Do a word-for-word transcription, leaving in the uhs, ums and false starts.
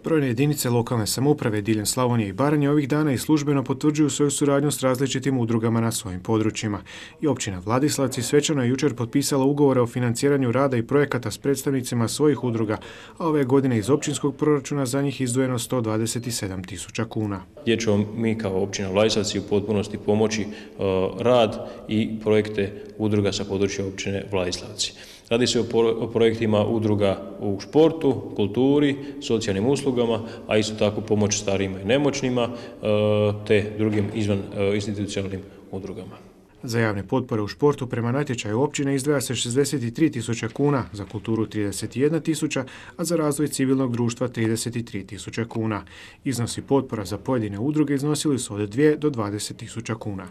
Brojne jedinice lokalne samouprave diljem Slavonije i Baranje ovih dana i službeno potvrđuju svoju suradnju s različitim udrugama na svojim područjima. I općina Vladislavci svečano je jučer potpisala ugovore o financiranju rada i projekata s predstavnicima svojih udruga, a ove godine iz općinskog proračuna za njih izdvojeno sto dvadeset sedam tisuća kuna. Gdje ćemo mi kao općina Vladislavci u potpunosti pomoći rad i projekte udruga sa područja općine Vladislavci. Radi se o projektima udruga u športu, kulturi, socijalnim uslugama, a isto tako pomoć starijima i nemoćnima te drugim izvan institucionalnim udrugama. Za javne potpore u športu prema natječaju općine izdvaja se šezdeset tri tisuće kuna, za kulturu trideset jedna tisuća, a za razvoj civilnog društva trideset tri tisuće kuna. Iznosi potpora za pojedine udruge iznosili su od dvije do dvadeset tisuća kuna.